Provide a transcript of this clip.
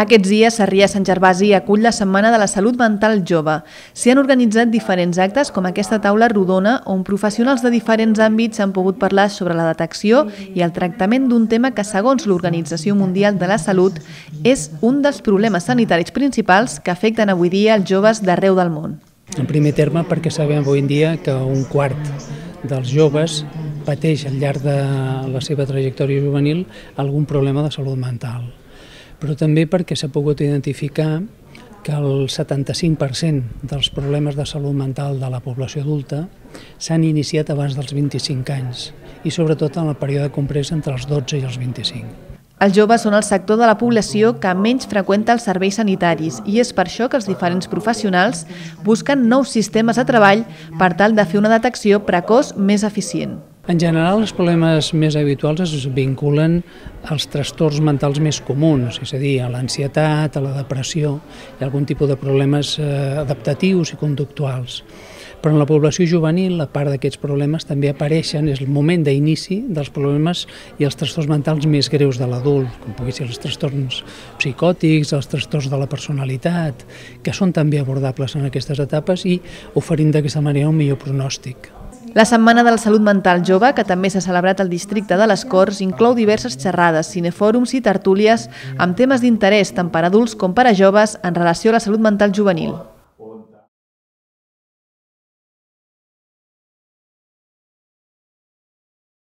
Aquests dies, Sarrià Sant Gervasi acull la Setmana de la Salut Mental Jove. S'hi han organitzat diferents actes com aquesta taula rodona on professionals de diferents àmbits han pogut parlar sobre la detecció i el tractament d'un tema que, segons l'Organització Mundial de la Salut, és un dels problemes sanitaris principals que afecten avui dia els joves d'arreu del món. En primer terme, perquè sabem avui en dia que un quart dels joves pateix al llarg de la seva trajectòria juvenil algun problema de salut mental. Però també perquè s'ha pogut identificar que el 75% dels problemes de salut mental de la població adulta s'han iniciat abans dels 25 anys i sobretot en el període comprès entre els 12 i els 25. Els joves són el sector de la població que menys freqüenta els serveis sanitaris i és per això que els diferents professionals busquen nous sistemes de treball per tal de fer una detecció precoç més eficient. En general, els problemes més habituals es vinculen als trastorns mentals més comuns, és a dir, a l'ansietat, a la depressió i algun tipus de problemes adaptatius i conductuals. Però en la població juvenil, a part d'aquests problemes, també apareixen, és el moment d'inici dels problemes i els trastorns mentals més greus de l'adult, com pugui ser els trastorns psicòtics, els trastorns de la personalitat, que són també abordables en aquestes etapes i oferint d'aquesta manera un millor pronòstic. La Setmana de la Salut Mental Jove, que també s'ha celebrat al districte de les Corts, inclou diverses xerrades, cinefòrums i tertúlies amb temes d'interès tant per a adults com per a joves en relació a la salut mental juvenil.